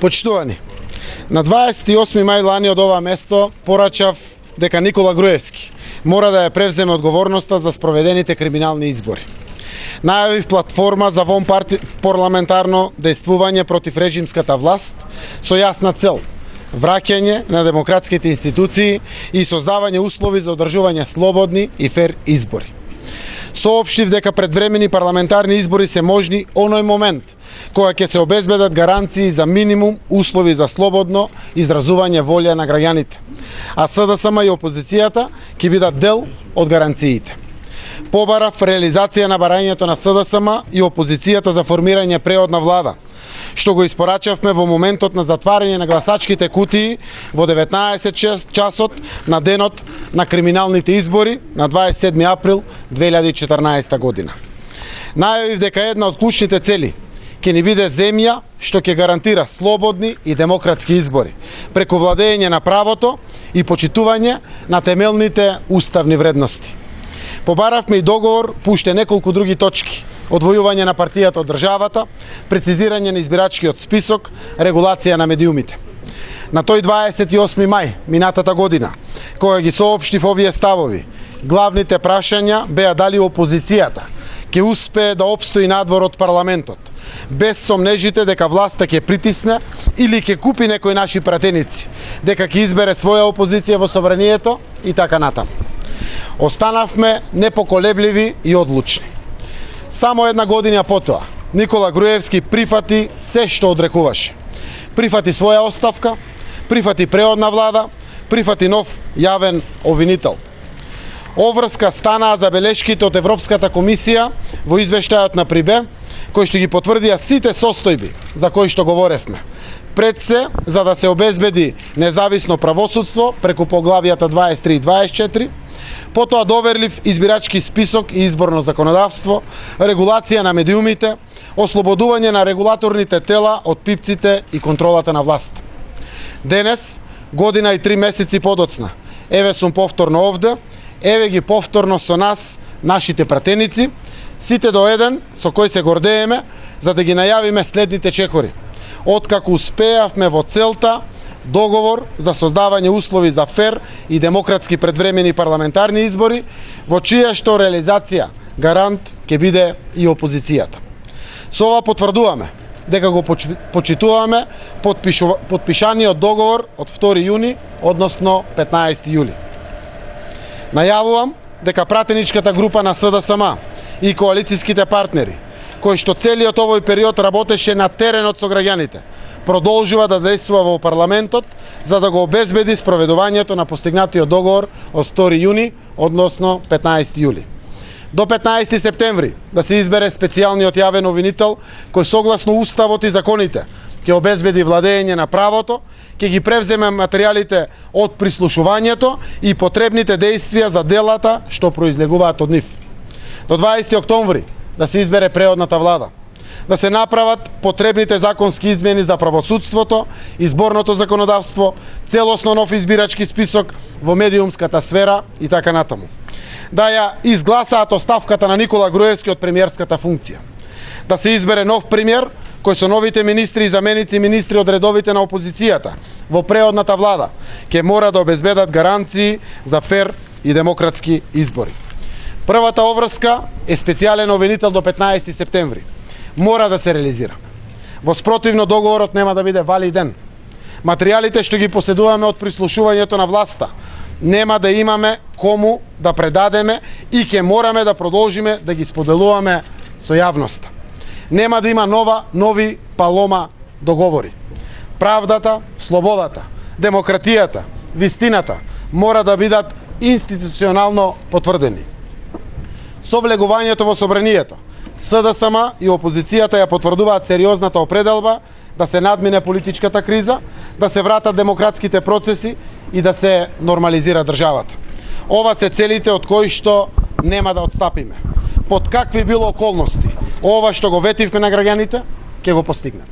Почитувани, на 28 мај лани од ова место порачав дека Никола Груевски мора да ја превземе одговорноста за спроведените криминални избори. Најавив платформа за парламентарно дејствување против режимската власт со јасна цел – враќање на демократските институции и создавање услови за одржување слободни и фер избори. Соопштив дека предвремени парламентарни избори се можни оној момент кога ќе се обезбедат гаранции за минимум услови за слободно изразување волја на граѓаните, а СДСМ и опозицијата ќе бидат дел од гаранциите. Побарав реализација на барањето на СДСМ и опозицијата за формирање преодна влада, што го испорачавме во моментот на затварање на гласачките кутии во 19 часот на денот на криминалните избори на 27 април 2014 година. Најавив дека една од клучните цели ќе ни биде земја што ќе гарантира слободни и демократски избори, преку владење на правото и почитување на темелните уставни вредности. Побаравме и договор по уште неколку други точки: одвојување на партијата од државата, прецизирање на избирачкиот список, регулација на медиумите. На тој 28 мај минатата година, кога ги соопштив овие ставови, главните прашања беа дали опозицијата ќе успее да обстои надвор од парламентот, без сомнежите дека власта ќе притисне или ќе купи некои наши пратеници, дека ќе избере своја опозиција во собранието и така натаму. Останавме непоколебливи и одлучни. Само една година потоа, Никола Груевски прифати се што одрекуваше. Прифати своја оставка, прифати преодна влада, прифати нов јавен обвинител. Оврска станаа забелешките од Европската комисија во извештајот на ПРИБЕ, кои што ги потврдија сите состојби за кои што говоревме. Пред се, за да се обезбеди независно правосудство преку поглавијата 23 и 24, потоа доверлив избирачки список и изборно законодавство, регулација на медиумите, ослободување на регулаторните тела од пипците и контролата на власт. Денес, година и 3 месеци подоцна, еве сум повторно овде, еве ги повторно со нас, нашите пратеници, сите до еден со кој се гордееме, за да ги најавиме следните чекори. Откако успеавме во целта договор за создавање услови за фер и демократски предвремени парламентарни избори, во чија што реализација гарант ќе биде и опозицијата. Со ова потврдуваме дека го почитуваме подпишаниот договор од 2 јуни, односно 15 јули. Најавувам дека пратеничката група на СДСМ и коалицијските партнери, кои што целиот овој период работеше на теренот со граѓаните, продолжува да действува во парламентот за да го обезбеди спроведувањето на постигнатиот договор од 2 јуни, односно 15 јули. До 15 септември да се избере специјалниот јавен обвинител кој согласно уставот и законите ќе обезбеди владење на правото, ќе ги превземе материјалите од прислушувањето и потребните действија за делата што произлегуваат од нив. До 20 октомври да се избере преодната влада, да се направат потребните законски измени за правосудството, изборното законодавство, целосно нов избирачки список во медиумската сфера и така натаму. Да ја изгласаат оставката на Никола Груевски од премиерската функција. Да се избере нов премиер кој со новите министри и заменици министри од редовите на опозицијата во преодната влада ќе мора да обезбедат гаранции за фер и демократски избори. Првата обврска е специјален обвинител до 15 септември. Мора да се реализира. Во спротивно договорот нема да биде валиден. Материјалите што ги поседуваме од прислушувањето на власта нема да имаме кому да предадеме и ќе мораме да продолжиме да ги споделуваме со јавноста. Нема да има нови палома договори. Правдата, слободата, демократијата, вистината мора да бидат институционално потврдени. Со влегувањето во собранието, СДСМ и опозицијата ја потврдуваат сериозната определба да се надмине политичката криза, да се вратат демократските процеси и да се нормализира државата. Ова се целите од кои што нема да отстапиме. Под какви било околности, ова што го ветивме на граѓаните, ќе го постигнеме.